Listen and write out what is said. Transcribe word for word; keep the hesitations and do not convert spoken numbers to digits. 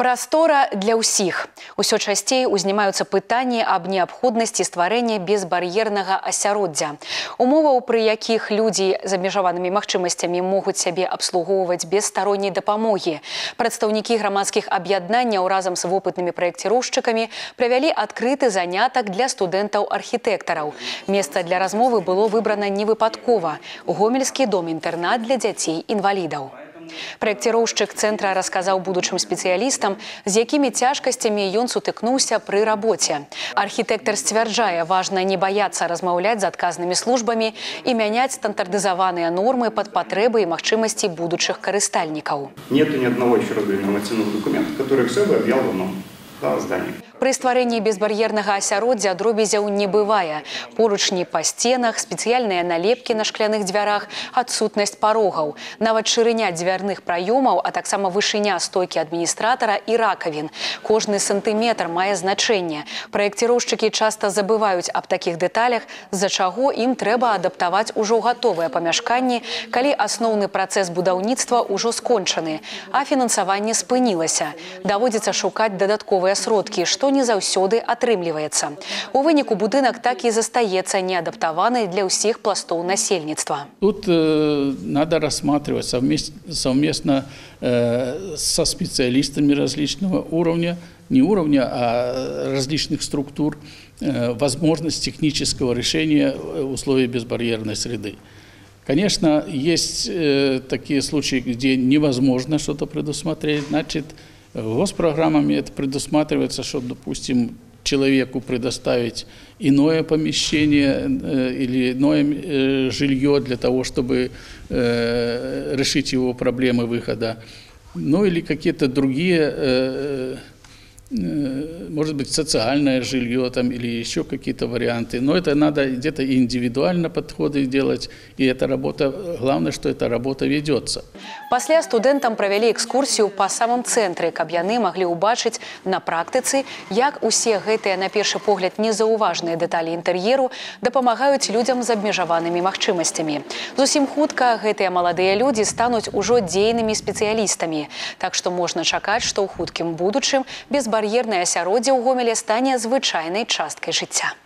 Прастора для ўсіх. Усё часцей узнімаюцца пытанні аб неабходнасці стварэння безбар'ернага асяроддзя. Умоваў, пры якіх людзі з абмежаванымі магчымасцямі могуць сябе абслугоўваць без старонняй дапамогі. Прадстаўнікі грамадскіх аб'яднанняў разам з вопытнымі праекціроўшчыкамі правялі адкрыты занятак для студэнтаў-архітэктараў. Месца для размовы было выбрана невыпадкова – гомельскі дом-інтэрнат для дзяцей-інвалідаў. Праекціроўшчык цэнтра расказаў будучым спецыялістам, з якімі цяжкасцямі ён сутыкнуўся пры рабоце. Архітэктар сцвярджае, важна не баяцца размаўляць з адказнымі службамі і мяняць стандартызаваныя нормы пад патрэбы і магчымасці будучых карыстальнікаў. Нету ни одного еще раз говорю, нормативного документа, который все бы объял в одном здании. Пры стварэнні безбар'ернага асяроддзя дробязяў не бывае. Поручні па сценах, спецыяльныя налепкі на шкляных дзвярах, адсутнасць парогаў. Нават шырыня дзвярных праёмаў, а таксама вышыня стойкі адміністратара і ракавін. Кожны сантыметр мае значэнне. Праекціроўшчыкі часта забываюць аб такіх дэталях, з-за чаго ім трэба адаптаваць ужо гатовыя памяшканні, калі асноўны працэс будаўніцтва ўжо скончаны, а фінансаванне спынілася. Даводзіцца шукаць дадатковыя сродкі, што не заўсёды атрымліваецца. У выніку будынак так і застаецца неадаптаваны для ўсіх пластоў насельніцтва. Тут э, надо рассматривать совместно, совместно э, со специалистами различного уровня, не уровня, а различных структур, э, возможность технического решения условий безбарьерной среды. Конечно, есть э, такие случаи, где невозможно что-то предусмотреть, значит, госпрограммами это предусматривается, что, допустим, человеку предоставить иное помещение э, или иное э, жилье для того, чтобы э, решить его проблемы выхода. Ну или какие-то другие, э, э, может быть, социальное жилье там, или еще какие-то варианты. Но это надо где-то индивидуально подходы делать, и эта работа, главное, что эта работа ведется. Пасля студэнтам правялі экскурсію па самым цэнтры, каб яны маглі ўбачыць на практыцы, як усе гэтыя, на першы погляд, незаўважныя дэталі інтэр'еру дапамагаюць людзям з абмежаванымі магчымасцямі. Зусім хутка гэтыя маладыя людзі стануць ужо дзейнымі спецыялістамі. Так што можна чакаць, што ў хуткім будучым безбар'ернае асяроддзе ў Гомелі стане звычайнай часткай жыцця.